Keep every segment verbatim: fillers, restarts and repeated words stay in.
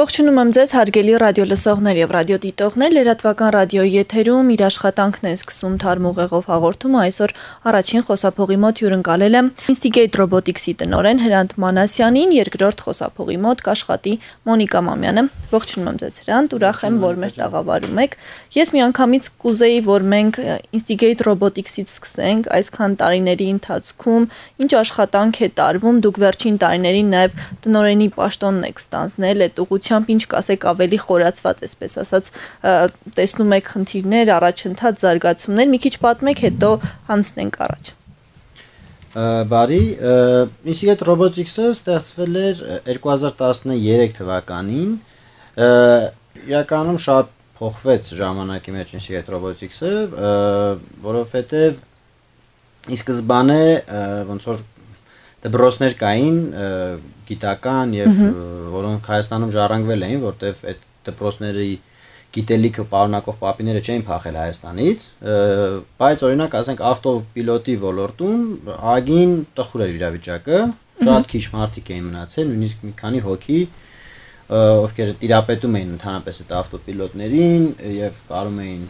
Ողջունում եմ ձեզ հարգելի ռադիոլսողներ եւ ռադիոդիտողներ, լրատվական ռադիոյի եթերում իր աշխատանքն է սկսում Թարմ ուղեղով հաղորդումը, այսօր առաջին խոսափողի մոտ հյուրընկալել եմ Instigate Robotics-ի տնօրեն Հրանտ Մանասյանին, երկրորդ խոսափողի մոտ կաշխատի Մոնիկա Մամյանը։ Ողջունում եմ ձեզ Հրանտ, ուրախ եմ, որ մեր տաղավարում եք։ Ես միանգամից կուզեի, որ մենք Instigate Robotics-ից սկսենք, այսքան տարիների ընթացքում ինչ աշխատանք է տարվում, դուք վերջին տարիներին նաեւ տնօրենի պաշտոնն եք ստանձնել, այդ ուղղությամբ ինչ կասեք ավելի խորացված, այսպես ասած, տեսնում եք խնդիրներ, առաջընթաց, զարգացումներ, մի քիչ պատմեք, հետո հանցնենք առաջ։ Բարի, Instigate Robotics-ը ստեղծվել էր երկու հազար տասներեք թվականին, իրականում շատ փոխվեց ժամանակի մեջ Instigate Robotics-ը, որովհետև ի սկզբանե ոնց որ դպրոցներ կային գիտական եւ որոնք Հայաստանում ժառանգվել էին, որտեվ այդ դպրոցների գիտելիքը պարունակող պապիները չէին փախել Հայաստանից, բայց օրինակ ասենք ավտոպիլոտի ոլորտում ագին տխուր էր իրավիճակը, շատ քիչ մարդիկ էին մնացել, նույնիսկ մի քանի հոգի, ովքեր տիրապետում էին ընդհանրապես այդ ավտոպիլոտներին եւ կարում էին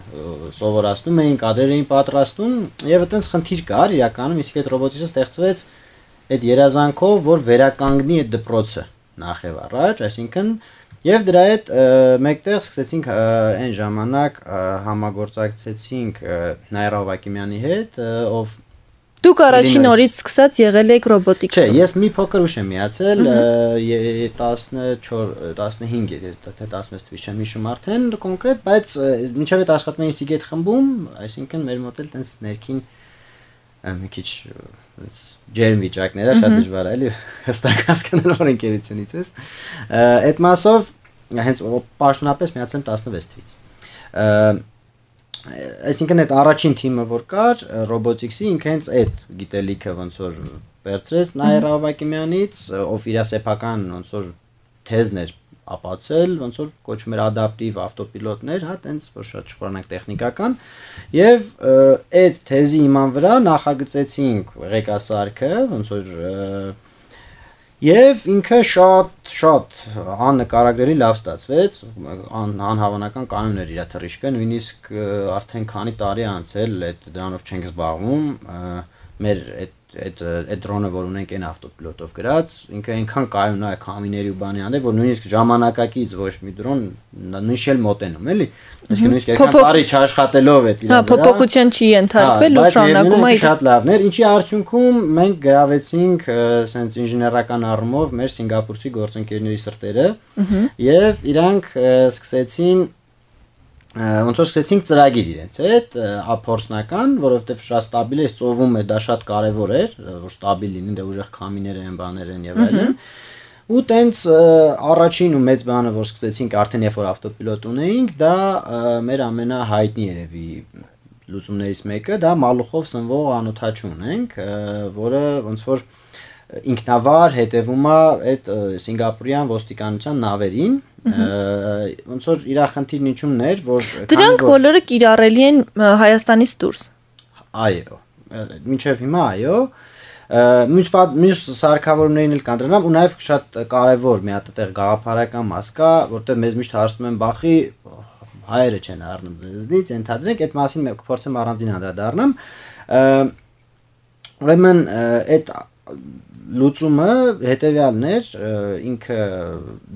սովորացնում էին, կադրեր էին պատրաստում եւ այդտենց խնդիր կար, իրականում Instigate Robotics-ը ստեղծվեց այդ երազանքով, որ վերականգնի այդ դպրոցը նախ եւ առաջ, այսինքն եւ դրա հետ մեկտեղ սկսեցինք այն ժամանակ համագործակցեցինք Նաիրա Հովակիմյանի հետ, ով Դուք առաջին օրից սկսած եղել եք ռոբոտիկսում։ Չէ, ես մի փոքր ուշ եմ միացել, տասնչորս տասնհինգ թե տասնվեց թվականին չեմ հիշում արդեն կոնկրետ, բայց մինչև այդ աշխատում եմ Instigate խմբում, այսինքն մեր մոտ էլ տենց ներքին մի քիչ ջերմ վիճակներ է, շատ դժվար է էլի հստակ հասկանալ որ ընկերությունից ես։ Այդ մասով հենց պաշտոնապես միացել եմ տասնվեց թվականից։ Այսինքն այդ առաջին թիմը որ կար ռոբոտիկսի ինքը հենց այդ գիտելիքը ոնց որ վերցրեց Նաիրա Հովակիմյանից, ով իր սեփական ոնց որ թեզն էր ապացել, ոնց որ կոչվում էր ադապտիվ ավտոպիլոտներ, հա, տենց որ շատ չխորանանք տեխնիկական, եւ այդ թեզի իման վրա նախագծեցինք ղեկասարքը, ոնց որ եւ ինքը շատ շատ աննկարագրելի լավ ստացվեց, անհավանական կանոններ իր թռիչքը, նույնիսկ արդեն քանի տարի անցել այդ դրանով չենք զբաղվում, մեր այդ այդ այդ դրոնը որ ունենք այն ավտոպիլոտով գրած, ինքը այնքան կայուն է քամիների ու բանի հանդեպ, որ նույնիսկ ժամանակակից ոչ մի դրոն նույնիսկ էլ մոտենում, էլի։ Իսկ նույնիսկ այնքան տարի չաշխատելով այդ իրավիճակը։ Հա, փոփոխության չի ենթարկվել ու շարունակում է շատ լավներ, ինչի արդյունքում մենք գրավեցինք ասենց ինժեներական առումով մեր սինգապուրցի գործընկերների սրտերը եւ իրանք սկսեցին ոնց որ սկսեցինք ծրագիր իրենց հետ, ափորձնական, որովհետև շատ ստաբիլ է, ծովում է, դա շատ կարևոր էր, որ ստաբիլ լինի, դե ուժեղ քամիներ են, բաներ են եւ այլն։ Ու տենց առաջին ու մեծ բանը, որ սկսեցինք արդեն երբ որ ավտոպիլոտ ունեինք, դա մեր ամենահայտնի երևի լուծումներից մեկը, դա մալուխով սնվող անոթաչու ունենք, որը ոնց որ ինքնավար հետևում է այդ սինգապուրյան ոստիկանության նավերին, ոնց որ իր խնդիրն ինչումն էր, որ դրանք բոլորը կիրառելի են Հայաստանից դուրս։ Այո, մինչև հիմա այո, մյուս մյուս սարքավորումներին էլ կան դրանով ու նաև շատ կարևոր մի հատ այդտեղ գաղափարական մաս կա, որտեղ մեզ միշտ հարցնում են բախի հայերը չեն առնում ձեզնից, ենթադրենք այդ մասին մենք կփորձեմ առանձին անդրադառնամ։ Ուրեմն այդ լուծումը հետեւյալն էր, ինքը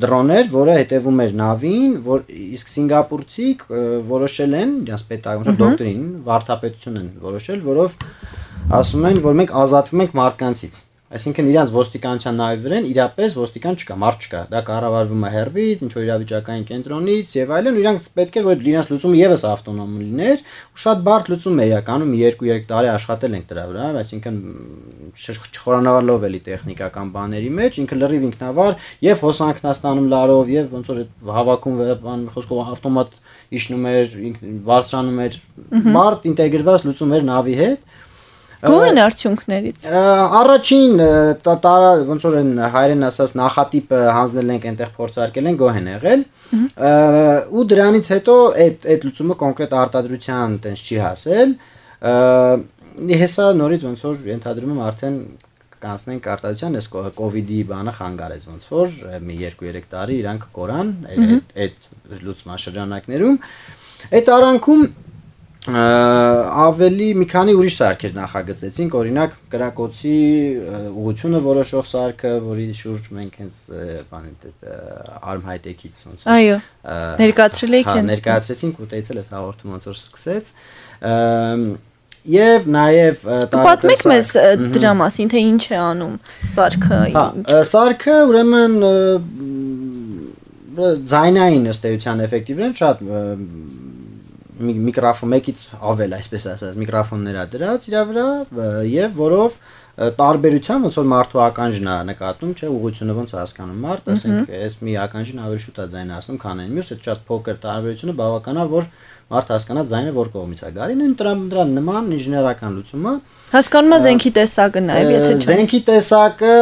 դրոն էր, որը հետևում էր նավին, որ իսկ սինգապուրցիք որոշել են, իրենց պետական դոկտրին, վարդապետություն են որոշել, որով ասում են, որ մենք ազատվում ենք մարդկանցից։ Այսինքն իրենց ոստիկանության նավի վրան իրապես ոստիկան չկա, մարդ չկա։ Դա կառավարվում է հեռվից, ինչ որ իրավիճակային կենտրոնից եւ այլն, ու իրանք պետք է որ իրենց լուծումը եւս ավտոնոմ լիներ, ու շատ բարդ լուծում է իրականում երկու-երեք տարի աշխատել ենք դրա վրա, այսինքն չխորանալով էլի տեխնիկական բաների մեջ, ինքը լրիվ ինքնավար եւ հոսանքնաստանում լարով եւ ոնց որ հավաքում բան խոսքով ավտոմատ իջնում էր, բարձրանում էր, բարդ ինտեգրված լուծում էր նավի հետ։ Գոհ են արդյունքներից։ Առաջին տարա ոնց որ են հայերեն ասած նախատիպը հանձնել ենք այնտեղ փորձարկել են գոհ են եղել ու դրանից հետո այդ այդ լուծումը կոնկրետ արտադրության տենց չի հասել հեսա նորից ոնց որ ենթադրում եմ արդեն կանցնենք արտադրության, այս կովիդի բանը խանգարեց ոնց որ մի երկու երեք տարի իրանք կորան այդ լուծման շրջանակներում։ Այդ արանքում ավելի մի քանի ուրիշ սարքեր նախագծեցինք, օրինակ կրակոցի ուղղությունը որոշող սարքը, որի շուրջ մենք հենց բանի Arm High-Tech-ից ոնց որ այո ներկայացրել եք հենց ներկայացրեցինք, ուտեցել այս հաղորդումը ոնց որ սկսեց եւ նաեւ պատմեք մեզ դրա մասին, թե ինչ է անում սարքը։ Հա, սարքը ուրեմն ձայնային ըստ էության էֆեկտիվն շատ միկրոֆոն մեկից ավել, այսպես ասած, միկրոֆոններ ա դրած իրա վրա եւ որով տարբերության ոնց որ մարդու ականջն է նկատում, չէ, ուղղությունը ոնց է հասկանում մարդ, ասենք, այս մի ականջին ավելի շուտ է ձայնացնում, քան այն մյուսը, շատ փոքր տարբերությունը բավական է, որ մարդ հասկանա ձայնը որ կողմից է գալի, նույն դրա նման ինժեներական լուծումը հասկանում է զենքի տեսակը նաեւ, եթե չէ։ Զենքի տեսակը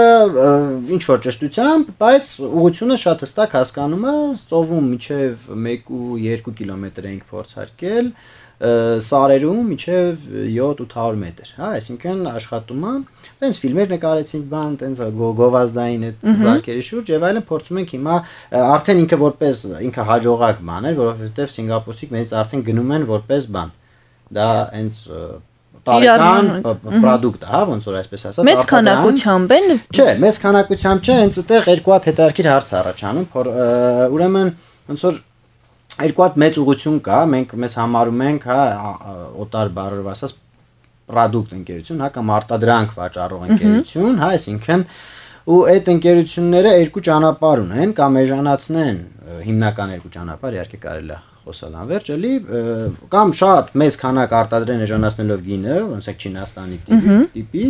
ինչ որ ճշտությամբ, բայց ուղղությունը շատ հստակ հասկանում է, ծովում միջև մեկ ու երկու կիլոմետր ենք փորձարկել, սարերում միջև յոթ ութ հարյուր մետր, հա, այսինքն աշխատում է, տենց ֆիլմեր նկարեցինք բան, տենց գովազդային այդ զարկերի շուրջ եւ այլն փորձում ենք հիմա արդեն ինքը որպես ինքը հաջողակ բան էր, որովհետեւ սինգապուրցիք մեզ արդեն գնում են որպես բան։ Դա հենց տարեկան product է, հա, ոնց որ այսպես ասած, մեծ քանակությամբ են։ Չէ, մեծ քանակությամբ չէ, հենց այդտեղ երկու հատ հետաքրքիր հարց առաջանում, ուրեմն ոնց որ երկու հատ մեծ ուղղություն կա, մենք մեզ համարում ենք, հա, օտար բառերով ասած product ընկերություն, հա, կամ արտադրանք վաճառող ընկերություն, հա, այսինքն ու այդ ընկերությունները երկու ճանապարհ ունեն, կամ էժանացնեն, հիմնական երկու ճանապարհ, իհարկե կարելի է խոսալ անverջ, էլի, կամ շատ մեծ քանակ արտադրեն էժանացնելով գինը, ոնց է Չինաստանի տիպի,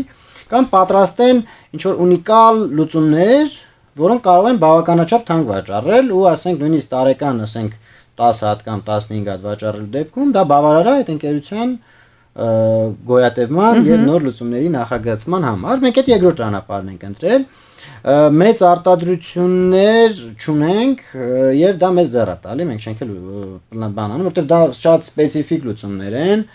կամ պատրաստեն ինչ որ ունիկալ լուծումներ, որոնք կարող են բավականաչափ թանկ վաճառել ու ասենք նույնիսկ տարեկան, ասենք տասը հատ կամ տասնհինգ հատ վաճառելու դեպքում դա բավարար է այդ ընկերության գոյատևման եւ նոր լուծումների նախագծման համար։ Մենք այդ երկրորդ ճանապարհն ենք ընտրել։ Մեծ արտադրություններ չունենք եւ դա մեզ ձեռ է տալի, մենք չենք էլ բան անում, որովհետեւ դա շատ սպეციფიկ լուծումներ են։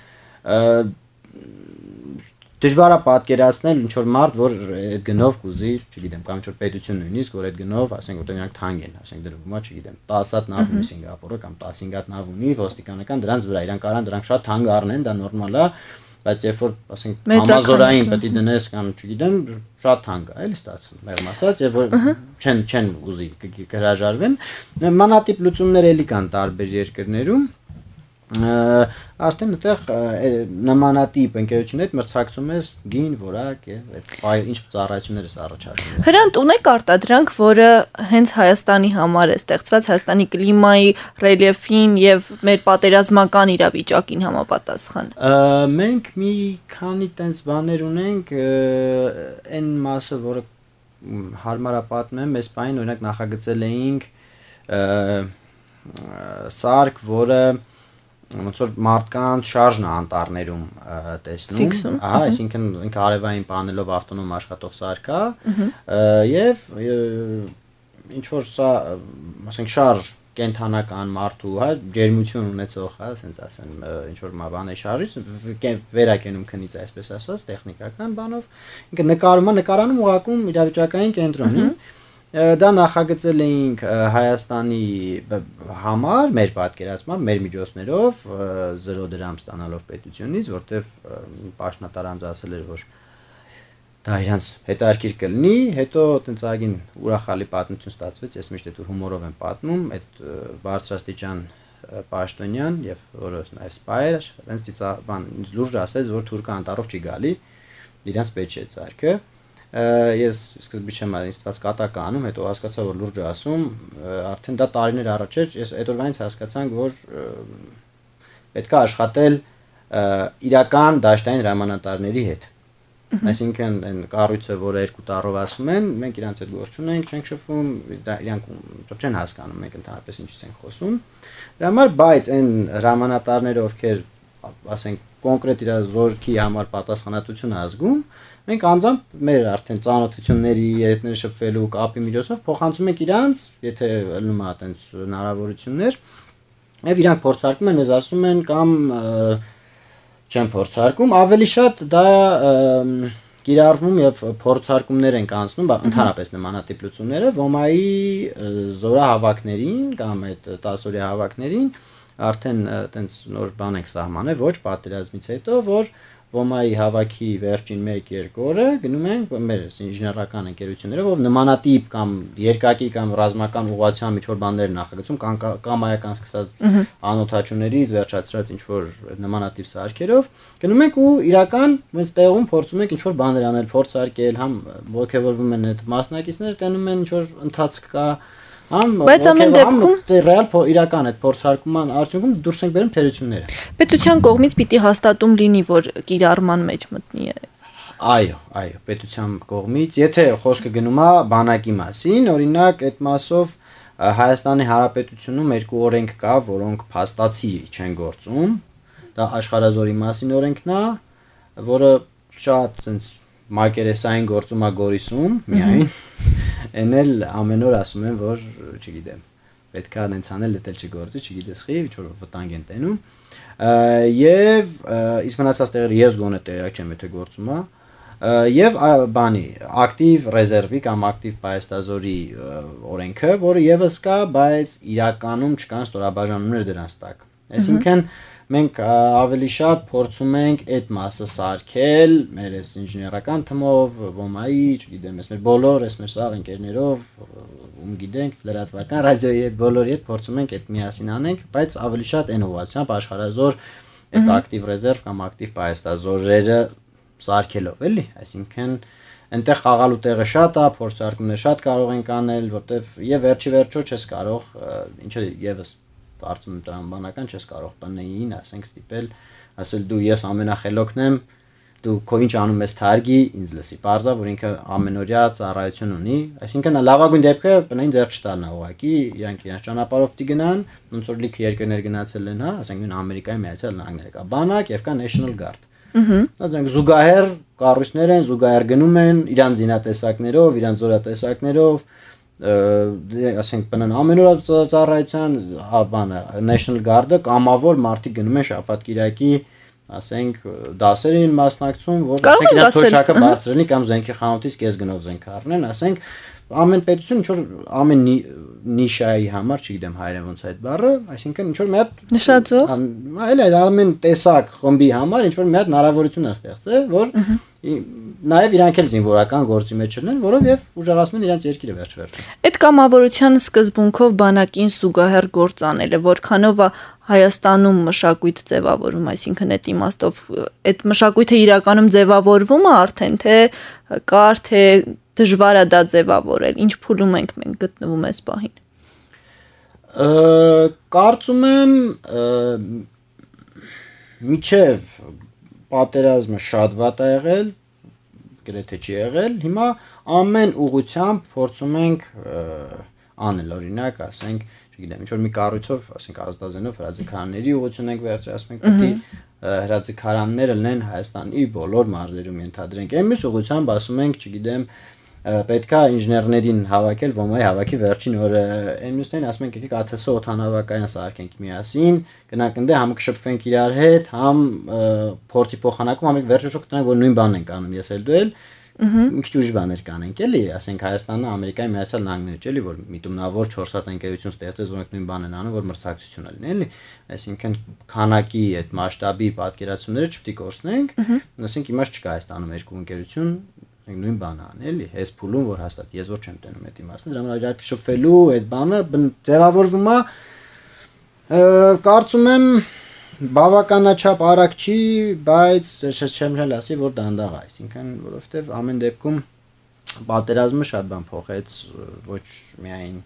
Դժվար է պատկերացնել ինչ որ մարդ, որ այդ գնով կուզի, չգիտեմ, կամ ինչ որ պետություն նույնիսկ, որ այդ գնով, ասենք, որ նրանք թանկ են, ասենք, դրվում է, չգիտեմ, տասը հատ նավ ունի Սինգապուրը կամ տասնհինգ հատ նավ ունի ոստիկանական դրանց վրա, իրանք արան դրանք շատ թանկ առնեն, դա նորմալ է, բայց երբ որ, ասենք, համազորային պետք է դնես կամ չգիտեմ, շատ թանկ է, էլի ստացվում, մեղմ ասած, եւ որ չեն չեն ուզի հրաժարվեն, մանատիպ լուծումներ էլի կան տարբեր երկրներում Արդեն այդտեղ նմանատիպ ընկերություններ մրցակցում ես գին, որակ եւ այդ ինչ ծառայություններ ես առաջարկում։ Հրանտ ունեք արտադրանք, որը հենց Հայաստանի համար է ստեղծված, Հայաստանի կլիմայի, ռելիեֆին եւ մեր պատերազմական իրավիճակին համապատասխան։ Մենք մի քանի տենց բաներ ունենք, այն մասը, որը հարմար է պատմեմ, այս բանը օրինակ նախագծել էինք սարք, որը ոնց որ մարդկանց շարժն է անտառներում տեսնում, ահա, այսինքն ինքը արևային պանելով ավտոնոմ աշխատող սարք է, եւ ինչ որ սա, ասենք, շարժ կենթանական մարդու, հա, ջերմություն ունեցող, հա, ասենց ասեմ, ինչ որ բան է շարժից, վերակենում քնից, այսպես ասած, տեխնիկական բանով, ինքը նկարում է, նկարանում ուղղակում իրավիճակային կենտրոնի Դա նախագծել էինք Հայաստանի համար, մեր պատկերացմամբ, մեր միջոցներով, զրո դրամ ստանալով պետությունից, որտեվ պաշտոնատար անձը ասել էր, որ դա իրանց հետաքրքիր կլինի, հետո տենց ագին ուրախալի պատմություն ստացվեց, ես միշտ այդ հումորով եմ պատմում, այդ բարձրաստիճան պաշտոնյան եւ որը նաեւ սպայր, տենց բան լուրջ ասեց, որ թուրքը անտառով չի գալի, իրանց պետք չէ ցարկը Ես սկզբից չեմ ինստված կատակ անում, հետո հասկացա, որ լուրջ ասում, արդեն դա տարիներ առաջ էր, ես այդ օրվանից հասկացանք, որ պետք է աշխատել իրական դաշտային հրամանատարների հետ։ Այսինքն այն կառույցը, որը երկու տառով ասում են, մենք իրանց հետ գործ չունենք, չենք շփվում, իրանք չեն հասկանում, մենք ընդհանրապես ինչից ենք խոսում։ Դրա համար, բայց այն հրամանատարները, ովքեր, ասենք, կոնկրետ իր զորքի համար պատասխանատվություն ազգում, մենք անձամբ մեր արդեն ծանոթությունների, երիտների շփվելու կապի միջոցով փոխանցում ենք իրանց, եթե ելնում է այտենց հնարավորություններ, եւ իրանք փորձարկում են, մեզ ասում են կամ չեն փորձարկում, ավելի շատ դա կիրառվում եւ փորձարկումներ են կանցնում ընդհանրապես նմանատիպ լուծումները ոմայի զորահավաքներին կամ այդ տասօրյա հավաքներին արդեն այտենց նոր բան ենք սահմանել ոչ պատերազմից հետո որ ոմայի հավաքի վերջին մեկ երկու օրը գնում են մեր ինժեներական ընկերությունները որ նմանատիպ կամ երկակի կամ ռազմական ուղղվածության միջոր բաներ նախագծում կամ այական սկսած անօթաչուներից վերջացրած ինչ որ նմանատիպ սարքերով գնում ենք ու իրական մենք տեղում փորձում ենք ինչ որ բաներ անել փորձարկել համ ողջևորվում են այդ մասնակիցները տենում են ինչ որ ընթացք կա Բայց ամեն դեպքում ռեալ իրական այդ փորձարկման արդյունքում դուրս ենք բերում թերությունները։ Պետության կողմից պիտի հաստատում լինի, որ կիրառման մեջ մտնի է։ Այո, այո, պետության կողմից, եթե խոսքը գնում է բանակի մասին, օրինակ այդ մասով Հայաստանի Հանրապետությունում երկու օրենք կա, որոնք փաստացի չեն գործում։ Դա աշխարհազորի մասին օրենքն է, որը շատ այնց մակերեսային գործում է Գորիսում, միայն Են էլ ամեն օր ասում են, որ, չգիտեմ, պետք է այնց անել, դա չգործի, չգիտես խի, ինչ որ վտանգ են տենում։ Եվ իսկ մնացած տեղերը ես գոնե տեղյակ չեմ, եթե գործում է։ Եվ բանի, ակտիվ ռեզերվի կամ ակտիվ պայեստազորի օրենքը, որը եւս կա, բայց իրականում չկան ստորաբաժանումներ դրանց տակ։ Այսինքն մենք ավելի շատ փորձում ենք այդ մասը սարքել մեր այս ինժեներական թմով, ոմայի, չգիտեմ, ես մեր բոլոր, ես մեր սաղ ընկերներով, ում գիտենք, լրատվական ռադիոյի հետ բոլորի հետ փորձում ենք այդ միասին անենք, բայց ավելի շատ այն ուղղությամբ աշխարհազոր այդ ակտիվ ռեզերվ կամ ակտիվ պայեստազորերը սարքելով, էլի, այսինքն այնտեղ խաղալու տեղը շատ է, փորձարկումներ շատ կարող ենք անել, որտեվ եւ վերջի վերջո չես կարող, ինչը եւս Արծում տրամբանական չես կարող բնեին, ասենք ստիպել, ասել դու ես ամենախելոքն եմ, դու քո ինչ անում ես թարգի, ինձ լսի, parza, որ ինքը ամենօրյա ծառայություն ունի, այսինքն լավագույն դեպքը բնային ձեռք չտալն է ուղղակի, իրանք իրենց ճանապարհով դի գնան, ոնց որ լիքը երկրներ գնացել են, հա, ասենք նույն Ամերիկայի Միացյալ Նահանգները կա բանակ եւ կա National Guard։ Ահա, զուգահեռ կառույցներ են, զուգահեռ գնում են իրանց զինատեսակներով, իրանց զորատեսակներով ասենք բնան ամենօրյա ծառայության բանը National Guard-ը կամավոր մարդիկ գնում են շաբաթ-կիրակի ասենք դասերին մասնակցում որ ասենք իրենց թոշակը բարձրելնի կամ զենքի խանութից կես գնով զենք առնեն ասենք ամեն պետություն ինչ որ ամեն նիշայի համար չգիտեմ հայերեն ոնց է այդ բառը այսինքն ինչ որ մի հատ նշածող այլ այլ ամեն տեսակ խմբի համար ինչ որ մի հատ հնարավորություն է ստեղծել որ նաև իրանք էլ զինվորական գործի մեջ չլինեն, որով եւ ուժեղացնում են իրենց երկիրը վերջ-վերջում։ Այդ կամավորության սկզբունքով բանակին զուգահեռ գործ անելը, որքանով է Հայաստանում մշակույթ ձևավորում, այսինքն այդ իմաստով այդ մշակույթը իրականում ձևավորվում է արդեն, թե կար, թե դժվար է դա ձևավորել, ինչ փուլում ենք մենք գտնվում այս պահին։ Կարծում եմ միջև պատերազմը շատ վատ է եղել, գրեթե չի եղել, հիմա ամեն ուղղությամբ փորձում ենք անել, օրինակ, ասենք, չգիտեմ, ինչ որ մի կառույցով, ասենք, ազդազենով հրաձգարանների ուղղություն ենք վերցրել, ասենք, պետք է հրաձգարանները լինեն Հայաստանի բոլոր մարզերում ենթադրենք։ Այն մյուս ուղղությամբ ասում ենք, չգիտեմ, պետք է ինժեներներին հավաքել ոմայի հավաքի վերջին օրը այն մյուսներին ասում ենք եկեք ԱԹՍ օդանավակայան սարքենք միասին գնանք ընդ համ կշփվենք իրար հետ համ փորձի փոխանակում համ վերջոք կտնանք որ նույն բանն ենք անում ես էլ դու էլ մի քիչ ուրիշ բաներ կանենք էլի ասենք Հայաստանը Ամերիկայի Միացյալ Նահանգները էլի որ միտումնավոր չորս հատ ընկերություն ստեղծեց որոնք նույն բանն են անում որ մրցակցություն լինի էլի այսինքն քանակի այդ մասշտաբի պատկերացումները չպետք է կորցնենք ասենք իմաստ չկա Հայաստանում երկու ընկերություն նույն բանը ան էլի այս փուլում որ հաստատ ես որ չեմ տենում այդ իմաստը դրա համար իրար շփվելու այդ բանը ձևավորվում է կարծում եմ բավականաչափ արագ չի բայց ես չեմ հել ասի որ դանդաղ է այսինքն որովհետև ամեն դեպքում պատերազմը շատ բան փոխեց ոչ միայն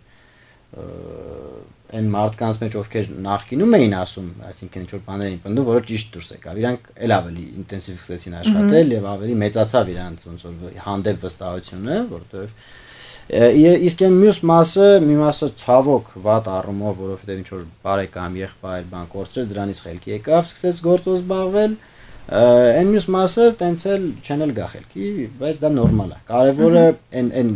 այն մարդկանց մեջ ովքեր նախկինում էին ասում, այսինքն ինչ որ բաներ էին պնդում, որը ճիշտ դուրս եկավ։ Իրանք էլ ավելի ինտենսիվ սկսեցին աշխատել եւ ավելի մեծացավ իրանց ոնց որ հանդեպ վստահությունը, որովհետեւ իսկ այն մյուս մասը, մի մասը ցավոք վատ առումով, որովհետեւ ինչ որ բարեկամ եղբայր բան կորցրեց, դրանից խելքի եկավ, սկսեց գործով զբաղվել։ Այն մյուս մասը տենց էլ չեն էլ գա խելքի, բայց դա նորմալ է։ Կարևորը այն այն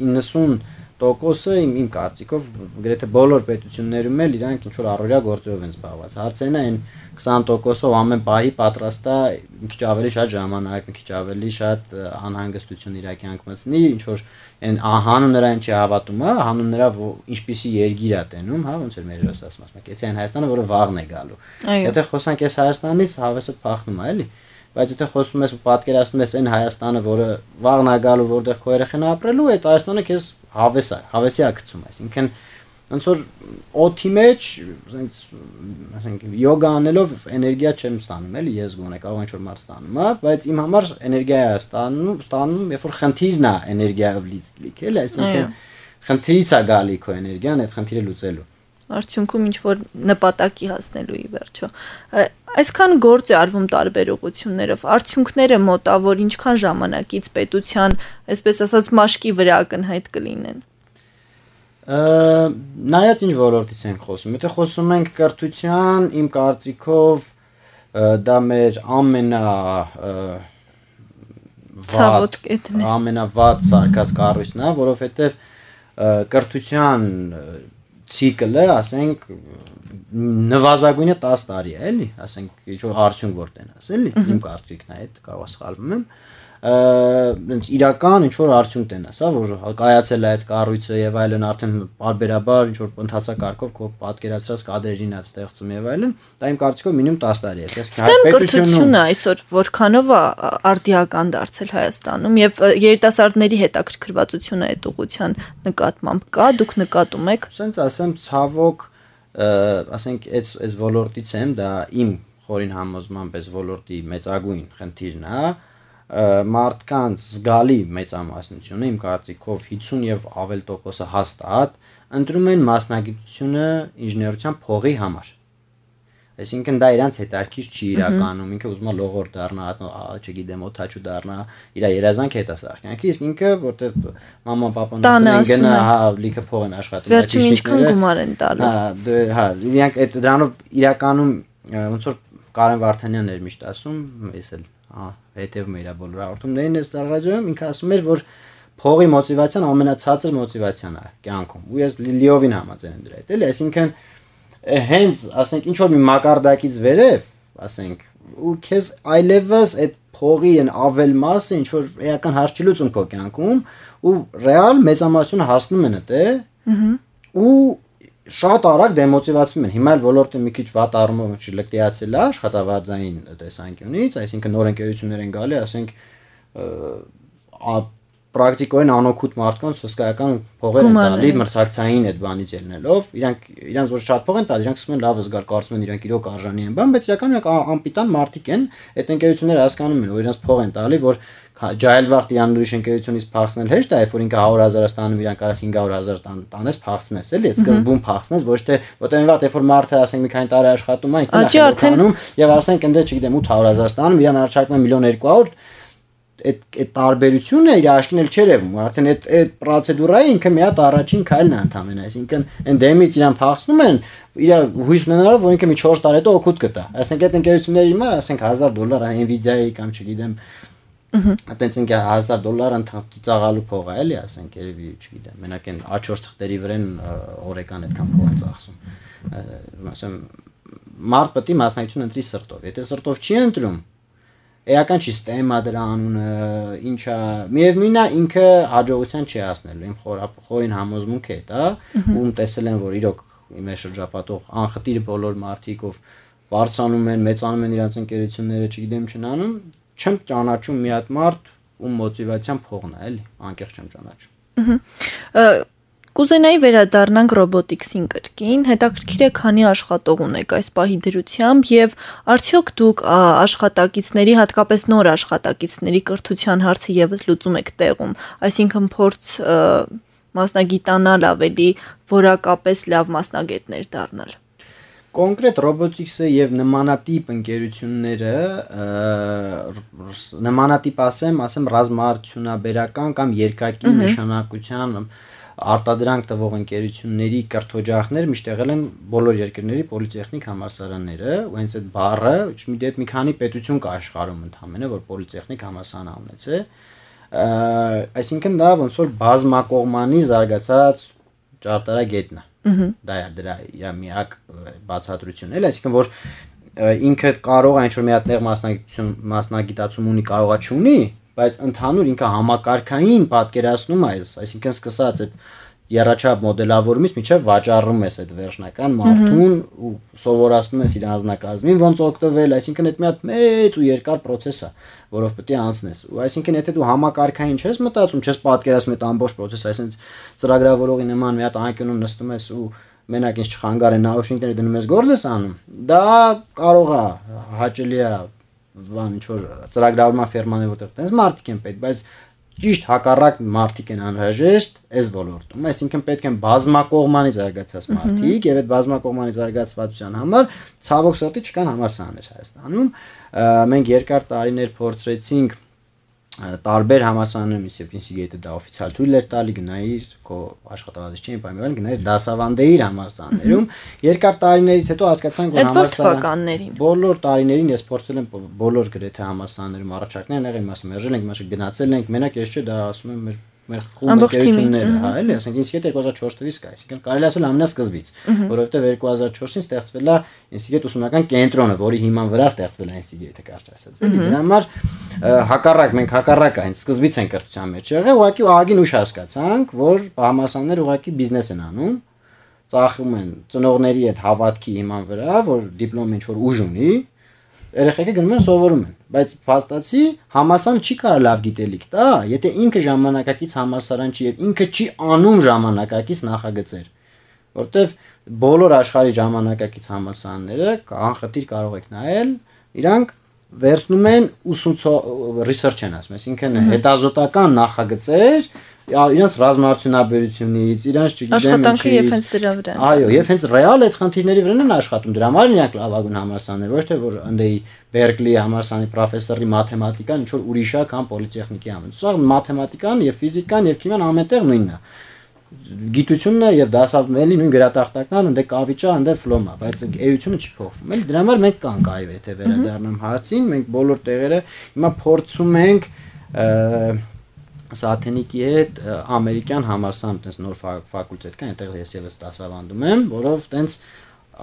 իննսուն տոկոսը իմ իմ կարծիքով գրեթե բոլոր պետություններում էլ իրանք ինչ որ առօրյա գործերով են զբաղված։ Հարցերն այն քսան տոկոսով ամեն պահի պատրաստ է մի քիչ ավելի շատ ժամանակ, մի քիչ ավելի շատ անհանգստություն իր կյանք մտցնի, ինչ որ այն հանուն նրա ինչ է հավատում, հա, հանուն նրա ինչպիսի երգիր է տենում, հա, ոնց էր մեր հերոս ասում, ասում եք, այն Հայաստանը, որը վաղն է գալու։ Եթե խոսանք այս Հայաստանից, հավեսը փախնում է, էլի։ Բայց եթե խոսում ես ու պատկերացնում ես այն Հայաստանը, որը վաղն է գալու, որտեղ քո երեխան ապրելու, այդ Հայաստանը քեզ հավես է, հավեսի է գցում, այսինքն ոնց որ օդի մեջ, ասենք, ասենք յոգա անելով էներգիա չեմ ստանում, էլի ես գոնե կարող ինչ որ մարդ ստանում, հա, բայց իմ համար էներգիա է ստանում, ստանում, երբ որ խնդիրն է էներգիայով լիք, էլի, այսինքն խնդիրից է գալի քո էներգիան, այդ խնդիրը լուծելու։ Արդյունքում ինչ որ նպատակի հասնելու ի վերջո։ Այսքան գործ է արվում տարբեր ուղղություններով, արդյունքները մոտավոր ինչքան ժամանակից պետության, այսպես ասած, մաշկի վրա ակնհայտ կլինեն։ Նայած ինչ ոլորտից ենք խոսում։ Եթե խոսում ենք կրթության, իմ կարծիքով դա մեր ամենա ցավոտ կետն է, ամենավատ սարքած կառույցն է, որովհետև կրթության ցիկլը, ասենք, նվազագույնը տասը տարի է, էլի, ասենք, ինչ որ արդյունք որ տենաս, էլի, իմ կարծիքն է, այդ կարող սխալվում եմ, այնց իրական ինչ որ արդյունք տենաս, հա, որ կայացել է այդ կառույցը եւ այլն, արդեն բարբերաբար ինչ որ ընթացակարգով քո պատկերացրած կադրերին է ստեղծում եւ այլն, դա իմ կարծիքով մինիմում տասը տարի է, այսպես պետությունը այսօր որքանով է արդիական դարձել Հայաստանում եւ երիտասարդների հետաքրքրվածությունը այդ ուղղության նկատմամբ կա, դուք նկատում եք։ Ասենց ասեմ, ցավոք, ասենք, այս այս ոլորտից եմ, դա իմ խորին համոզմամբ այս ոլորտի մեծագույն խնդիրն է, մարդկանց զգալի մեծամասնությունը իմ կարծիքով հիսուն եւ ավել տոկոսը հաստատ ընտրում են մասնագիտությունը ինժեներության փողի համար։ Այսինքն դա իրանց հետարքից չի իրականում, ինքը ուզում է լողոր դառնա, չգիտեմ, օթաչու դառնա, իր երազանք հետասարքյանքի, իսկ ինքը որտեվ մաման պապան ասում են գնա, հա, լիքը փող են աշխատում, վերջին ինչքան գումար են տալու։ Հա, հա, իրանք այդ դրանով իրականում ոնց որ Կարեն Վարդանյանն էր միշտ ասում, ես էլ հա հետևում եմ իր բոլոր հաղորդումներին այս ռադիոյում, ինքը ասում էր, որ փողի մոտիվացիան ամենացածր մոտիվացիան է կյանքում։ Ու ես լիովին համաձայն եմ դրա հետ, էլի, այսինքն հենց, ասենք, ինչ որ մի մակարդակից վերև, ասենք, ու քեզ այլևս այդ փողի են ավել մասը ինչ որ էական հարց չի լուծում քո կյանքում, ու ռեալ մեծամասնությունը հասնում են այդ, ու շատ արագ դեմոտիվացվում են։ Հիմա էլ ոլորտը մի քիչ վատ առումով չի լկտիացել է աշխատավարձային տեսանկյունից, այսինքն նոր ընկերություններ են գալի, ասենք պրակտիկորեն անօգուտ մարդկանց հսկայական փողեր են տալի մրցակցային այդ բանից ելնելով, իրանք իրանց որ շատ փող են տալի, իրանք ասում են լավ զգար, կարծում են իրանք իրոք արժանի են բան, բայց իրականում իրանք անպիտան մարդիկ են, այդ ընկերությունները հասկանում են, որ իրանք փող են տալի, որ ջահելվաղ իրան ուրիշ ընկերությունից փախցնել հեշտ է, երբ որ ինքը հարյուր հազար ստանում, իրան կարաս հինգ հարյուր հազար տանես, փախցնես, էլի, այդ սկզբում փախցնես, ոչ թե որտեղ վատ, երբ որ մարդը ասենք մի քանի տարի աշխատում է, ինքն է խնդանում, եւ ասենք ընդ չգիտեմ ութ հարյուր հազար ստանում, իրան առաջարկում են միլիոն երկու հարյուր, այդ այդ տարբերությունը իր աշկին էլ չէր ևում, արդեն այդ այդ պրոցեդուրայի ինքը մի հատ առաջին քայլն է ընդամենը, այսինքն այն դեմից իրան փախցնում են, իր հույս ունենալով, որ ինքը մի չորս տարի հետո օգուտ կտա, ասենք այդ ընկերությունների հիմա, ասենք հազար դոլար Nvidia-ի կամ չգիտեմ Այդտենց ինքը հազար դոլար ծաղալու փող է, էլի, ասենք, երևի, չգիտեմ, մենակ այն ա չորս թղթերի վրան օրեկան այդքան փող են ծախսում։ Ասեմ, մարդ պետք է մասնակցություն ընտրի սրտով։ Եթե սրտով չի ընտրում, էական չի ստեմա դրա անունը, ինչա, միևնույնն է, ինքը հաջողության չի հասնելու։ Իմ խորին համոզմունքը է դա, ում տեսել են, որ իրոք իմ շրջապատող անխտիր բոլոր մարդիկ ով բարձրանում են, մեծանում են իրենց ընկերությունները, չգիտեմ, չնանում չեմ ճանաչում մի հատ մարդ ում մոտիվացիան փողն է, էլի, անկեղծ չեմ ճանաչում։ Կուզենայի վերադառնանք ռոբոտիկսին կրկին, հետաքրքիր է քանի աշխատող ունեք այս պահի դրությամբ եւ արդյոք դուք աշխատակիցների, հատկապես նոր աշխատակիցների կրթության հարցը եւս լուծում եք տեղում, այսինքն փորձ մասնագիտանալ ավելի, որակապես լավ մասնագետներ դառնալ։ Կոնկրետ ռոբոտիկսը եւ նմանատիպ ընկերությունները նմանատիպ ասեմ, ասեմ ռազմաարդյունաբերական կամ երկակի նշանակության արտադրանք տվող ընկերությունների կրթօջախներ միշտ եղել են բոլոր երկրների պոլիտեխնիկ համալսարանները, ու հենց այդ բառը մի քանի պետություն կա աշխարհում ընդհանրապես, որ պոլիտեխնիկ համալսարան ունեցե, այսինքն դա ոնց որ բազմակողմանի զարգացած ճարտարագետն է։ Դա է դրա իր միակ բացատրությունն էլ, այսինքն որ ինքը կարող է ինչ-որ մի հատ նեղ մասնագիտություն մասնագիտացում ունի, կարողա չունի, բայց ընդհանուր ինքը համակարգային պատկերացնում է, այսինքն սկսած այդ երաչափ մոդելավորումից մինչև վաճառում ես այդ վերջնական մարդուն ու սովորացնում ես իր անձնակազմին ոնց օգտվել, այսինքն այդ մի հատ մեծ ու երկար process է, որով պետք է անցնես։ Ու այսինքն եթե դու համակարգային չես մտածում, չես պատկերացնում այդ ամբողջ process-ը, այսինքն ծրագրավորողի նման մի հատ անկյունում նստում ես ու մենակ ինձ չխանգար է նաուշնիկները դնում ես գործ ես անում, դա կարող է հաճելի է բան ինչ որ ծրագրավորման ֆերման է որտեղ տենց մարդիկ են պետք, բայց ճիշտ հակառակ մարդիկ են անհրաժեշտ այս ոլորտում, այսինքն պետք են բազմակողմանի զարգացած մարդիկ եւ այդ բազմակողմանի զարգացվածության համար ցավոք սրտի չկան համալսարաններ Հայաստանում։ Մենք երկար տարիներ փորձեցինք տարբեր համալսարաններում, երբ ինստիտուտը դա օֆիցիալ թույլ էր տալի գնայիր քո աշխատավարձ չէին պայմանավորել գնայիր դասավանդեիր համալսարաններում, երկար տարիներից հետո հասկացանք որ համալսարաններին բոլոր տարիներին ես փորձել եմ բոլոր գրեթե համալսարաններում առաջարկներ եղել, մասը մերժել ենք, մասը գնացել ենք, մենակ ես չէ դա ասում եմ մեր մեր խումբ ընկերությունները, հա, էլի, ասենք ինստիտուտ երկու հազար չորս թվականից կա, այսինքն կարելի ասել ամենասկզբից, որովհետև երկու հազար չորսին ստեղծվել է ինստիտուտ ուսումնական կենտրոնը, որի հիման վրա ստեղծվել է ինստիտուտը, կարճ ասած, էլի, դրա համար հակառակ մենք հակառակ այն սկզբից են կրթության մեջ եղել, ուղղակի ահագին ուշ հասկացանք, որ համալսարանները ուղղակի բիզնես են անում, ծախում են ծնողների այդ հավատքի հիման վրա, որ դիպլոմը ինչ-որ ուժ ունի, երեխեքը գնում են սովորում են, բայց փաստացի համալսարանը չի կարող լավ գիտելիք տա, եթե ինքը ժամանակակից համալսարան չի եւ ինքը չի անում ժամանակակից նախագծեր, որտեվ բոլոր աշխարհի ժամանակակից համալսարանները անխտիր կարող եք նայել, իրանք վերցնում են ուսուցող research են ասում, այսինքն հետազոտական նախագծեր իրանց ռազմաարդյունաբերությունից, իրանց չգիտեմ աշխատանքը եւ հենց դրա վրա։ Այո, եւ հենց ռեալ այդ խնդիրների վրա են աշխատում։ Դրա համար իրանք լավագույն համալսարաններ, ոչ թե որ ընդեի Բերկլի համալսարանի պրոֆեսորի մաթեմատիկան ինչ որ ուրիշ է կամ պոլիտեխնիկի համալսարանը։ Սա մաթեմատիկան եւ ֆիզիկան եւ քիմիան ամենտեղ նույնն է։ Գիտությունն է եւ դասավանդելի նույն գրատախտական, ընդե կավիճա, ընդե ֆլոմա, բայց էությունը չի փոխվում։ Էլի դրա համար մենք կանք այո, եթե վերադառնամ հարցին, մենք բոլոր տեղերը հիմա փորձում ենք Սաթենիկի հետ ամերիկյան համալսարան տես նոր ֆակուլտետ կա, այնտեղ ես եւս դասավանդում եմ, որով տենց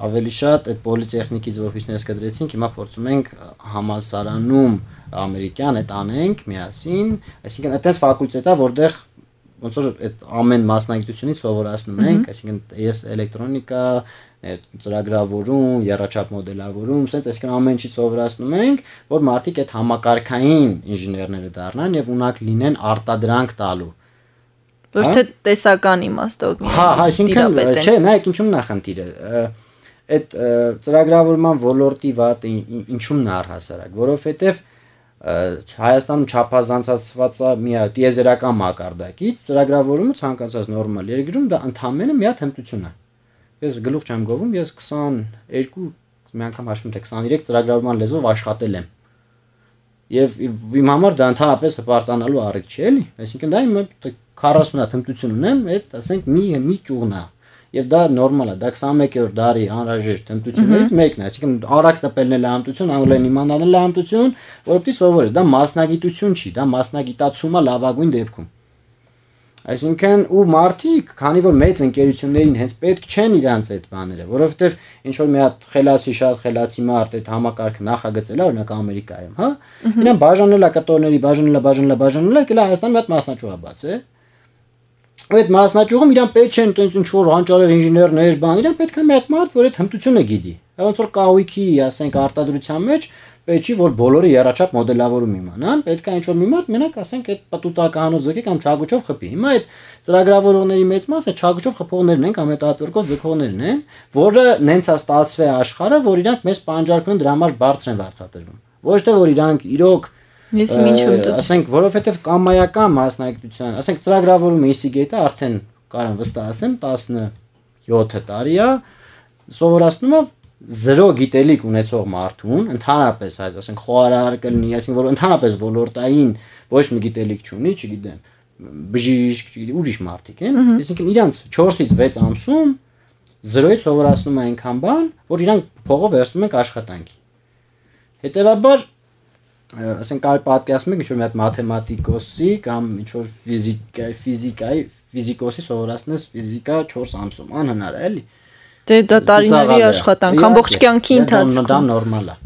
ավելի շատ այդ պոլիտեխնիկից որոշներս կդրեցինք, հիմա փորձում ենք համալսարանում ամերիկյան այդ անենք միասին, այսինքն այդպես ֆակուլտետ է, որտեղ ոնց որ այդ ամեն մասնագիտությունից սովորացնում ենք, այսինքն ես էլեկտրոնիկա, ծրագրավորում, երաչափ մոդելավորում, ասենց այսինքն ամեն ինչից սովորացնում ենք, որ մարդիկ այդ համակարգային ինժեներները դառնան եւ ունակ լինեն արտադրանք տալու։ Ոչ թե տեսական իմաստով։ Հա, այսինքն չէ, նայեք ինչու՞մն է խնդիրը։ Այդ ծրագրավորման ոլորտի վատ ինչու՞մն է առհասարակ, որովհետեւ Հայաստանում չափազանցացված է մի հատ տիեզերական մակարդակից, ծրագրավորումը ցանկացած նորմալ երկրում դա ընդհանրապես մի հատ հմտություն է։ Ես գլուխ չեմ գովում, ես քսաներկու մի անգամ հաշվում թե քսաներեք ծրագրավորման լեզվով աշխատել եմ։ Եվ իմ համար դա ընդհանրապես հպարտանալու առիթ չէ, էլի։ Այսինքն դա իմ քառասուն հատ հմտություն ունեմ, այդ ասենք մի մի ճյուղն է։ Եվ դա նորմալ է, դա քսանմեկերորդ դարի անհրաժեշտ հմտություններից մեկն է, այսինքն արագ տպելն էլ է հմտություն, անգլերեն իմանալն էլ է հմտություն, որովհետեւ սովորես, դա մասնագիտություն չի, դա մասնագիտացում է լավագույն դեպքում։ Այսինքն ու մարդիկ, քանի որ մեծ ընկերություններին հենց պետք չեն իրանց այդ բաները, որովհետեւ ինչ որ մի հատ խելացի շատ խելացի մարդ այդ համակարգը նախագծել է, օրինակ Ամերիկայում, հա, իրեն բաժանել է կտորների, բաժանել է, բաժանել է, բաժանել է, եկել է Հայաստան մի հատ մասնաճյուղ բաց է։ Այդ մասնաճյուղում իրան պետք չեն տենց ինչ որ հանճարեղ ինժեներներ, բան, իրան պետք է մի հատ մարդ, որ այդ հմտությունը գիտի։ Ոնց որ կահույքի, ասենք, արտադրության մեջ պետք չի որ բոլորը երաչափ մոդելավորում իմանան, պետք է ինչ որ մի մարդ մենակ ասենք այդ պատուտականով ձգի կամ չագուճով խփի։ Հիմա այդ ծրագրավորողների մեծ մասը չագուճով խփողներն են կամ այդ ատվերկով ձգողներն են, որը նենց է ստացվել աշխարհը, որ իրանք մեզ պանջարկում են դրա համար բարձր են վարձատրվում։ Ոչ թե որ իրանք իրոք Ես ինչու՞ դու ասենք որովհետև կամայական մասնագիտության, ասենք ծրագրավորումը ինստիտուտը արդեն կարամ վստահ ասեմ տասնյոթ տարի է սովորացնում է զրո գիտելիք ունեցող մարդուն, ընդհանրապես այդ ասենք խոհարար կլինի, այսինքն որ ընդհանրապես ոլորտային ոչ մի գիտելիք չունի, չգիտեմ, բժիշկ, չգիտեմ, ուրիշ մարդիկ են, այսինքն իրանց չորսից վեց ամսում զրոյից սովորացնում է այնքան բան, որ իրանք փողով վերցնում են աշխատանքի։ Հետևաբար ասենք կարելի պատկերացնել ինչ որ մի հատ մաթեմատիկոսի կամ ինչ որ ֆիզիկայի ֆիզիկայի ֆիզիկոսի սովորացնես ֆիզիկա չորս ամսում անհնար է էլի դե դա տարիների աշխատանք ամբողջ կյանքի ընթացքում դա նորմալ է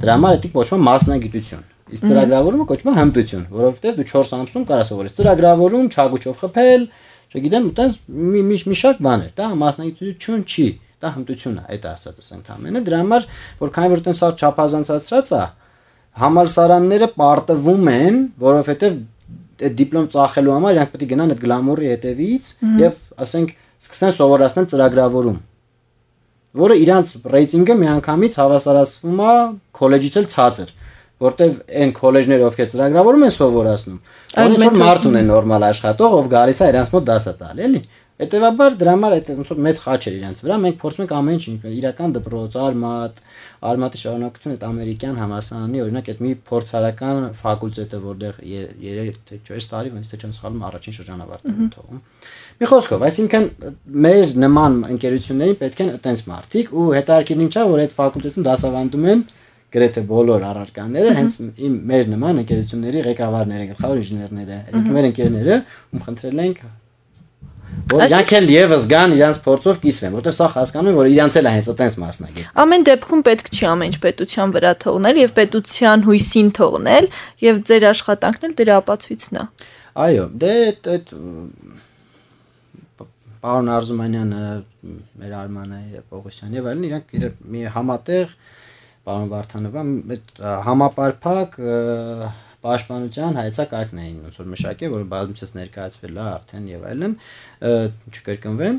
դրա համար դա կոչվում է մասնագիտություն իսկ ծրագրավորումը կոչվում է հմտություն որովհետև դու չորս ամսում կարաս սովորես ծրագրավորում չագուչով խփել չգիտեմ այտենց մի մի շարք բաներ դա մասնագիտություն չի դա հմտություն է այդ ասածս ընդամենը դրա համար որ քանի որ այտենց չափազանցացած է համալսարանները պարտվում են, որովհետև այդ դիպլոմ ծախելու համար իրանք պետք է գնան այդ գլամուրի հետևից եւ ասենք սկսեն սովորացնել ծրագրավորում, որը իրանք ռեյտինգը միանգամից հավասարացվում է քոլեջից էլ ցածր, որտեվ այն քոլեջները ովքեր ծրագրավորում են սովորացնում, որոնց որ մարդ ունեն նորմալ աշխատող, ով գալիս է իրանք մոտ դասը տալ, էլի։ Հետևաբար դրա համար այդ ոնց որ մեծ խաչ էր իրանք վրա, մենք փորձում ենք ամեն ինչ իրական դպրոց, արմատ, արմատի շարունակություն այդ ամերիկյան համալսարանի, օրինակ այդ մի փորձարական ֆակուլտետը, որտեղ երեք թե չորս տարի, ոնց թե չեմ սխալվում, առաջին շրջանավարտն են թողում։ Մի խոսքով, այսինքն մեր նման ընկերություններին պետք են այտենց մարդիկ ու հետաքրքիրն ինչա, որ այդ ֆակուլտետում դասավանդում են գրեթե բոլոր առարկաները, հենց իմ մեր նման ընկերությունների ղեկավարները, գլխավոր ինժեներները, այսինքն մեր ընկերները, ում խնդրել ենք որ իրանք էլ եւս գան իրանց փորձով կիսվեն, որտեղ սա հասկանում են, որ իրանց էլ է հենց այտենց մասնագետ։ Ամեն դեպքում պետք չի ամեն ինչ պետության վրա թողնել եւ պետության հույսին թողնել եւ ձեր աշխատանքն էլ դրա ապացույցն է։ Այո, դե այդ պարոն Արզումանյանը, մեր Արմանը եւ Պողոսյանը եւ այլն իրանք մի համատեղ պարոն Վարդանովը այդ համապարփակ պաշտպանության հայեցակարգն էին ոնց որ մշակել, որը բազմիցս ներկայացվել է արդեն եւ այլն, չկրկնվեմ,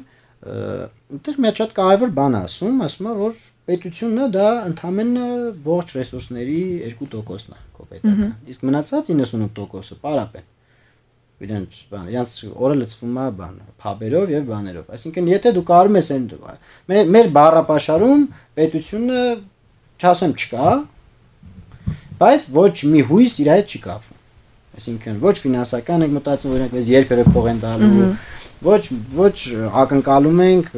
այդտեղ մի շատ կարևոր բան ասում, ասում է, որ պետությունը դա ընդամենը ողջ ռեսուրսների երկու տոկոսն է քո պետական։ Իսկ մնացած իննսունութ տոկոսը պարապ են։ Իրենց բան, իրենց օրը լցվում է բան, փաբերով եւ բաներով։ Այսինքն, եթե դու կարում ես այն մեր մեր բառապաշարում պետությունը չասեմ չկա, բայց ոչ մի հույս իր հետ չի կապվում։ Այսինքն ոչ ֆինանսական ենք մտածում, օրինակ, ես երբևէ փող են տալու, ոչ ոչ ակնկալում ենք,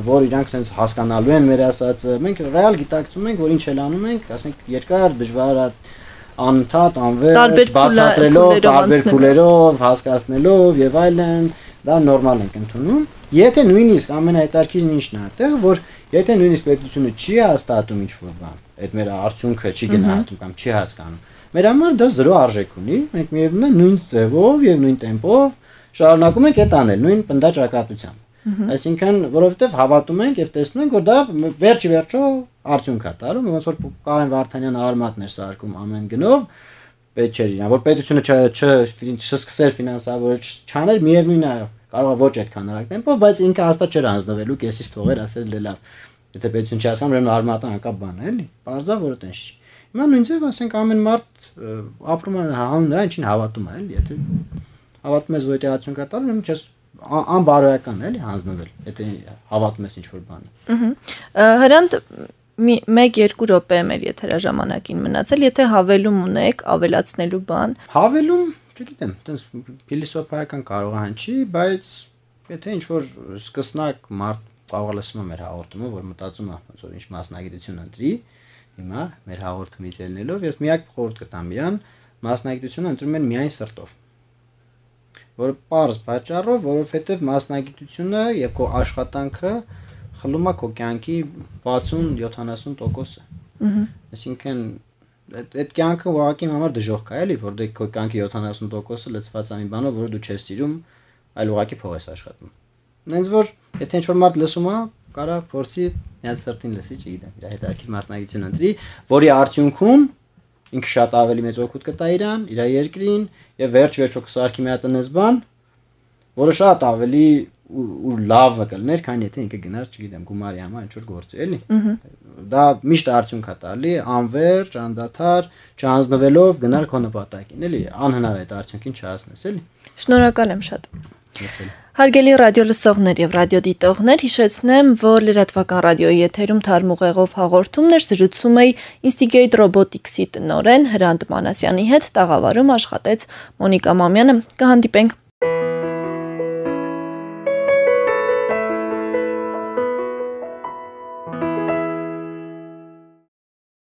որ իրանք sense հասկանալու են մեր ասածը։ Մենք ռեալ գիտակցում ենք, որ ինչ էլ անում ենք, ասենք երկար դժվար անընդհատ անվերջ բացատրելով, տարբեր փուլերով, հասկացնելով եւ այլն, դա նորմալ ենք ընդունում։ Եթե նույնիսկ ամենահետաքրքիրն ինչն է այդտեղ, որ եթե նույնիսկ պետությունը չի հաստատում ինչ-որ բան, այդ մեր արդյունքը չի գնահատում կամ չի հասկանում, մեր համար դա զրո արժեք ունի, մենք միևնույն է նույն ձևով եւ նույն տեմպով շարունակում ենք այդ անել, նույն պնդաճակատությամբ։ Այսինքն, որովհետեւ հավատում ենք եւ տեսնում ենք, որ դա վերջ վերջո արդյունք է տալու, ոնց որ Կարեն Վարդանյանը արմատներ սարքում ամեն գնով, պետք չէր իրան, որ պետությունը չսկսեր ֆինանսավորել, չաներ, միևնույն է, կարող է ոչ այդքան արագ տեմպով, բայց ինքը հաստատ չէր հանձնվելու, կեսից թողեր, ասել դե լավ, եթե պետություն չի հասկանում, ուրեմն արմատը անկապ բան է, էլի, բարձա որ այտենց չի։ Հիմա նույն ձև, ասենք ամեն մարդ ապրում է հանուն նրա ինչին հավատում է, էլի, եթե հավատում ես, որ դա արդյունք է տալու, ուրեմն չես անբարոյական է, էլի, հանձնվել, եթե հավատում ես ինչ-որ բանի։ Հրանտ մեկ-երկու րոպե մեր եթերաժամանակին մնացել, եթե հավելում ունեք, ավելացնելու բան։ Հավելում, չգիտեմ, այտենց փիլիսոփայական կարող է հնչի, բայց եթե ինչ-որ սկսնակ մարդ կարող է լսում մեր հաղորդումը, որ մտածում է, ոնց որ ինչ մասնագիտություն ընտրի, հիմա մեր հաղորդումից ելնելով, ես միակ խորհուրդ կտամ իրան, մասնագիտությունը ընտրում են միայն սրտով։ Որ պարզ պատճառով, որովհետև մասնագիտությունը եւ քո աշխատանքը խլում է քո կյանքի վաթսուն-յոթանասուն տոկոսը։ Այսինքն այդ կյանքը ուղղակի իմ համար դժոխք է, էլի, որտեղ քո կյանքի յոթանասուն տոկոսը լցված է մի բանով, որը դու չես սիրում, այլ ուղղակի փող ես աշխատում։ Նենց որ եթե ինչ-որ մարդ լսում է, կարա փորձի միած սրտին լսի, չգիտեմ, իր հետաքրքիր մասնագիտություն ընտրի, որի արդյունքում ինքը շատ ավելի մեծ օգուտ կտա իրան, իր երկրին եւ վերջ-վերջո կսարքի մի հատ այնպես բան, որը շատ ավելի ու լավը կլներ, քան եթե ինքը գնար, չգիտեմ, գումարի համար ինչ-որ գործի, էլի։ Դա միշտ արդյունք է տալի, անverջ, անդադար, չհանձնվելով գնալ քո նպատակին, էլի, անհնար է այդ արդյունքին չհասնես, էլի։ Շնորհակալ եմ շատ։ Հարգելի ռադիո լսողներ եւ ռադիոդիտողներ, հիշեցնեմ, որ լրատվական ռադիոյի եթերում թարմուղեղով հաղորդումներ զրուցում էի Instigate Robotics-ի տնօրեն Հրանտ Մանասյանի հետ, տաղավարում աշխատեց Մոնիկա Մամյանը։ Կհանդիպենք